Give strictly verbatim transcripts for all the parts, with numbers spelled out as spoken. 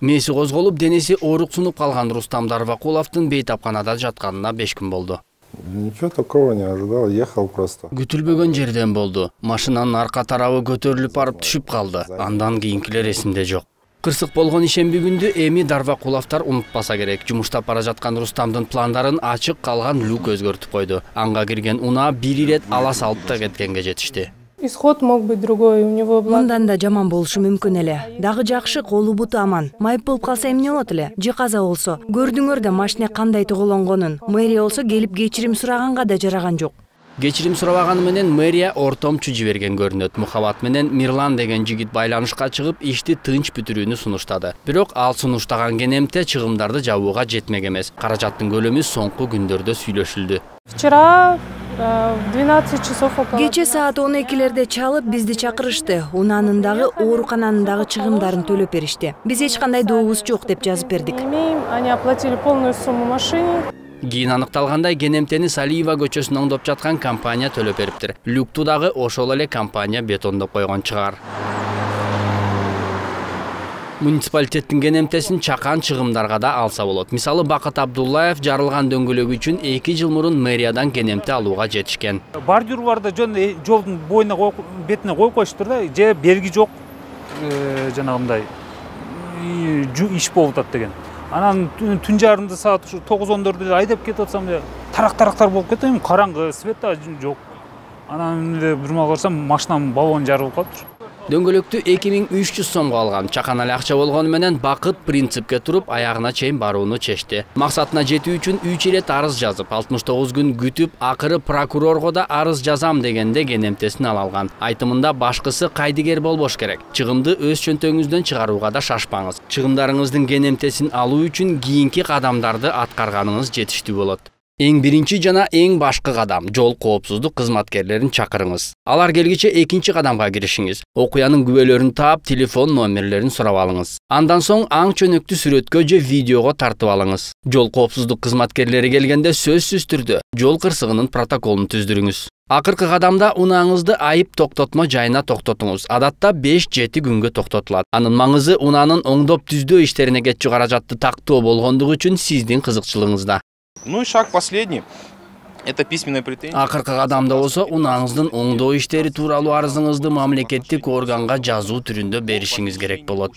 Мээси козголуп, денеси ооруксунуп калган Рустам Дарвакуловдун бейтапканада жатканына беш күн болду. Ничего такого не ожидал, ехал просто. Күтүлбөгөн жерден болду. Машинанын арка тарабы көтөрүлүп барып түшүп калды. Андан кийинкилер эсимде жок. Кырсык болгон ишемби күндү эми Дарвакуловдор унутпаса керек. Жумуштап бара жаткан Рустамдын пландарын ачык калган люк өзгөртүп койду. Анга кирген унаа бир ирет ала салып да кеткенге жетишти. Исход мог быть другой, у него мындан да жаман болушу мүмкүн эле. Дагы жакшы, колу буту аман. Майып болуп калса эмне болот эле? Же каза болсо? Көрдүңөр да машина кандай тоголонгонун. Мэрия болсо келип кечирим сураганга да жараган жок. Кечирим сурабаганы менен мэрия ортомчу жиберген көрүнөт. Мухаббат менен Мирлан деген жигит байланышка чыгып, ишти тынч бүтүрүүнү сунуштады. Бирок ал сунуштаган кенемте чыгымдарды жабууга жетмек эмес. Каражаттын көлөмү соңку күндөрдө сүйлөшүлдү. Вчера в двенадцать часов около. Кече саат он экилерде чалып бизди чакырышты. Унаанын дагы оорукананын дагы чыгымдарын төлөп беришти. Биз эч кандай дообуз жок деп жазып бердик. Они оплатили полную сумму машине. Кийин аныкталгандай, кенемтени Салиева көчөсүн оңдоп жаткан компания төлөп бериптир. Люкту дагы ошол эле компания бетондоп койгон чыгар. Муниципалитеттин кенемтесин чакан чыгымдарга да алса болот. Мисалы, Бакыт Абдуллаев жарылган дөңгөлөгү үчүн эки жыл мурун мэриядан кенемте алууга жетишкен. Бордюрларды жолдун боюна бетине коюп коюштур да, же белги жок, жанагындай иш болуп атат деген. Анан түн жарымда саат тогуз он төрттө айдап кетип атсам, тарак-тарактар болуп кетем, караңгы, свет да жок. Анан бир мал карасам, машинанын баллону жарылып калыптыр. Дөңгөлөктү эки миң үч жүз сомго алган. Чакан эле акча болгону менен Бакыт принципке туруп, аягына чейин барууну чечти. Максатына жетүү үчүн үч ирет арыз жазып, алтымыш тогуз күн күтүп, акыры прокурорго да арыз жазам дегенде кенемтесин ала алган. Айтымында башкысы кайдыгер болбош керек. Чыгымды өз чөнтөгүңүздөн чыгарууга да шашпаңыз. Чыгымдарыңыздын кенемтесин алуу үчүн кийинки кадамдарды аткарганыңыз жетиштүү болот. Эң биринчи жана эң башкы кадам — жол коопсуздук кызматкерлерин чакырыңыз. Алар келгиче экинчи кадамга киришиңиз. Окуянын күбөлөрүн таап, телефон номерлерин сурап алыңыз. Андан соң аң чөнөктү сүрөткө же видеого тартып алыңыз. Жол коопсуздук кызматкерлери келгенде сөзсүз түрдө жол кырсыгынын протоколун түздүрүңүз. Акыркы кадамда унааңызды айып токтотмо жайына токтотуңуз. Адатта беш жети күнгө токтотулат. Анын маңызы унаанын оңдоп түздөө иштерине кетчү каражатты тактоо болгондугу үчүн сиздин кызыкчылыгыңызда. Ну и шаг последний. Это письменная претензия. Акыркы кадамда болсо унааңыздын оңдоо иштери тууралуу арызыңызды мамлекеттик органга жазуу түрүндө беришиңиз керек болот.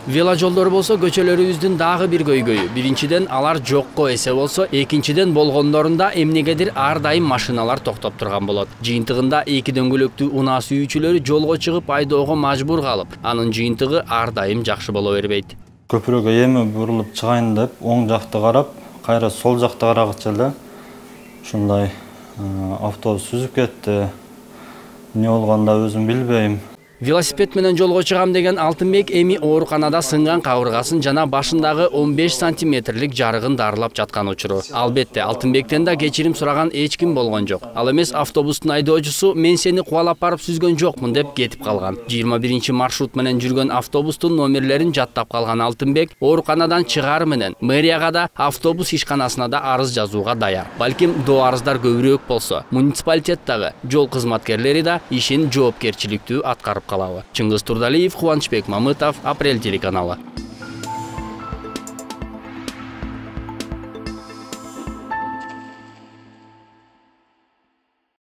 Веложолдор болсо көчөлөрүбүздүн дагы бир көйгөйү. Биринчиден алар жокко эсе болсо, экинчиден болгондорунда эмнегедир ар дайым машиналар токтоп турган болот. Жыйынтыгында эки дөңгөлөктүү унаа сүйүүчүлөрү жолго чыгып айдоого мажбур калып, анын жыйынтыгы ар дайым жакшы боло бербейт. Көпүрөгө эми бурулуп чыгайын деп, оң жакты карап, кайра сол жакты карагыча эле ушундай автобус сүзүп кетти. Эмне болгондо өзүм билбейм. Велосипед менен жолго чыгам деген Алтынбек эми ооруканада сынган кабыргасын жана башындагы он беш сантиметрлик жарыгын дарылап жаткан учуру. Албетте, Алтынбектен да кечирим сураган эч ким болгон жок. Ал эмес автобустун айдоочусу мен сени кубалап барып сүзгөн жокмун деп кетип калган. жыйырма биринчи маршрут менен жүргөн автобустун номерлерин жаттап калган Алтынбек ооруканадан чыгар менен мэрияга да, автобус ишканасына да арыз жазууга даяр. Балким доо арыздар көбүрөөк болсо, муниципалитеттагы жол кызматкерлери да ишин жоопкерчиликтүү аткарып калабы. Чыңгыз Турдалиев, Кубанычбек Мамытов, Апрель телеканалы.